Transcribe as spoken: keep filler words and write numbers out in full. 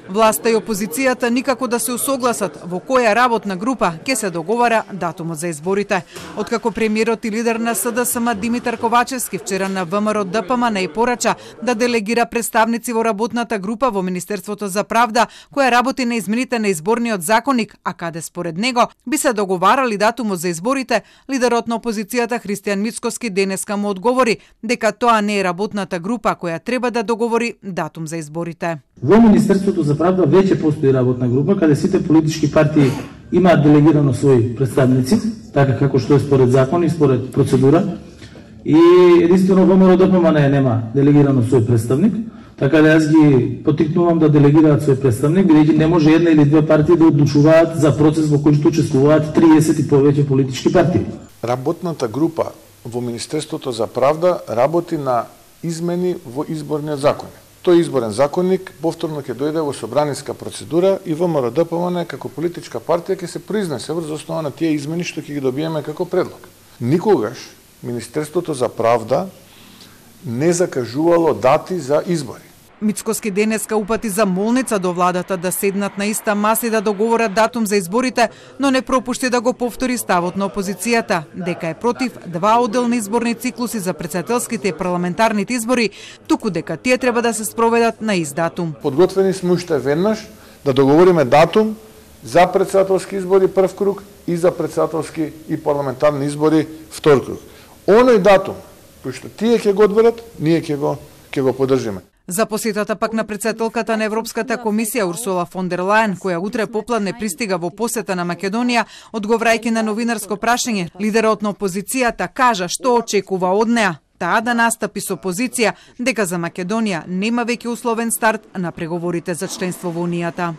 Власта и опозицијата никако да се усогласат во која работна група ќе се договара датумот за изборите. Откако премиерот и лидер на С Д С М Димитар Ковачевски вчера на В М Р Д П М не порача да делегира представници во работната група во Министерството за правда, која работи на измените на изборниот законник, а каде според него би се договарали датумот за изборите, лидерот на опозицијата Христијан Мицкоски денеска му одговори дека тоа не е работната група која треба да договори датум за изборите. Во Министерството за правда веќе постои работна група каде сите политички партии имаат делегирано своји представници, така како што е според закон и според процедура. И единствено во М Р Д П М не нема делегирано свој представник, така да јас ги поттикнувам да делегираат свој представник, бидејќи не може една или две партии да одлучуваат за процес во кој што учествуваат триесет и повеќе политички партии. Работната група во Министерството за правда работи на измени во изборниот законник. Тој изборен законник повторно ќе дојде во собраниска процедура и В М Р Д П М како политичка партија ќе се произнесе врз основа на тие измени што ќе ги добиеме како предлог. Никогаш Министерството за правда не закажувало дати за избори. Мицкоски денеска упати за молница до владата да седнат на иста маса и да договорат датум за изборите, но не пропушти да го повтори ставот на опозицијата, дека е против два одделни изборни циклуси за претседателските и парламентарните избори, туку дека тие треба да се спроведат на ист датум. Подготвени сме уште веднаш да договориме датум за претседателски избори прв круг и за претседателски и парламентарни избори втор круг. Оној датум кој што тие ќе го одберат, ние ќе го ќе го поддржиме. За посетата пак на претседателката на Европската комисија Урсула фон дер Лајен, која утре попладне пристига во посета на Македонија, одговарајќи на новинарско прашање, лидерот на опозицијата кажа што очекува од неа. Таа да настапи со позиција дека за Македонија нема веќе условен старт на преговорите за членство во Унијата.